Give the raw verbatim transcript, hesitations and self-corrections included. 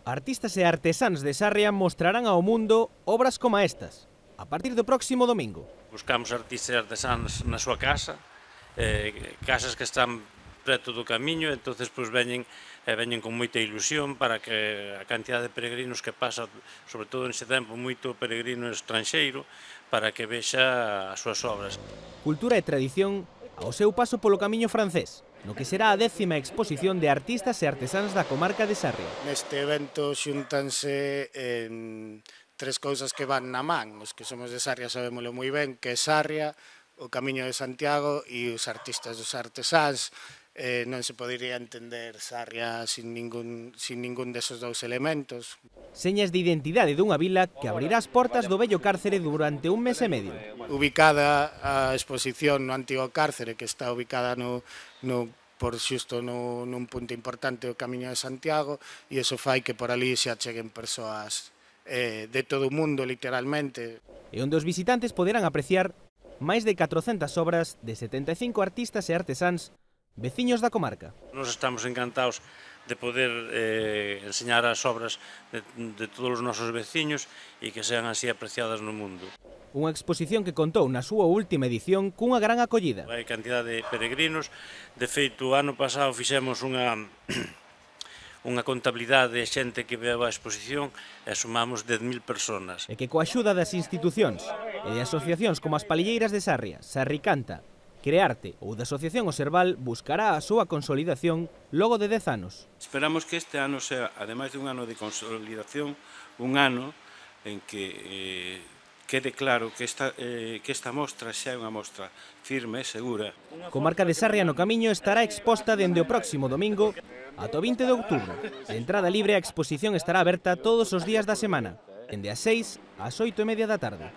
Artistas e artesáns de Sarria mostrarán ao mundo obras como estas, a partir do próximo domingo. Buscamos artistas e artesáns na súa casa, eh, casas que están preto do camiño, entonces pois veñen, eh, veñen con moita ilusión para que a cantidad de peregrinos que pasa, sobre todo neste tempo, moito peregrino estranxeiro, para que vexa as súas obras. Cultura e tradición ao seu paso polo camiño francés, no que será a décima exposición de artistas e artesáns da comarca de Sarria. Neste evento xúntanse en tres cousas que van na man. Os que somos de Sarria sabémolo moi ben, que é Sarria, o Camiño de Santiago e os artistas dos artesáns. Eh, non se podería entender Sarria sin ningún, sin ningún desos dous elementos. Señas de identidade dunha vila que abrirá as portas do vello cárcere durante un mes e medio. Ubicada a exposición no antigo cárcere, que está ubicada no, no por xusto no, nun punto importante do Camiño de Santiago, e iso fai que por ali se acheguen persoas eh, de todo o mundo, literalmente. E onde os visitantes poderán apreciar máis de catrocentas obras de setenta e cinco artistas e artesáns veciños da comarca. Nos estamos encantados de poder eh, enseñar as obras de, de todos os nosos veciños e que sean así apreciadas no mundo. Unha exposición que contou na súa última edición cunha gran acollida. Hai cantidad de peregrinos, de feito, o ano pasado fixemos unha, unha contabilidade de xente que veu a exposición e sumamos dez mil personas. E que coa axuda das institucións e de asociacións como as Palilleiras de Sarria, Sarricanta, Crearte ou da Asociación Oserval buscará a súa consolidación logo de dez anos. Esperamos que este ano sea, ademais de un ano de consolidación, un ano en que eh, quede claro que esta, eh, que esta mostra xa é unha mostra firme e segura. Comarca de Sarria no Camiño estará exposta dende o próximo domingo ata o vinte de outubro. De entrada libre, a exposición estará aberta todos os días da semana, dende as seis ás oito e media da tarde.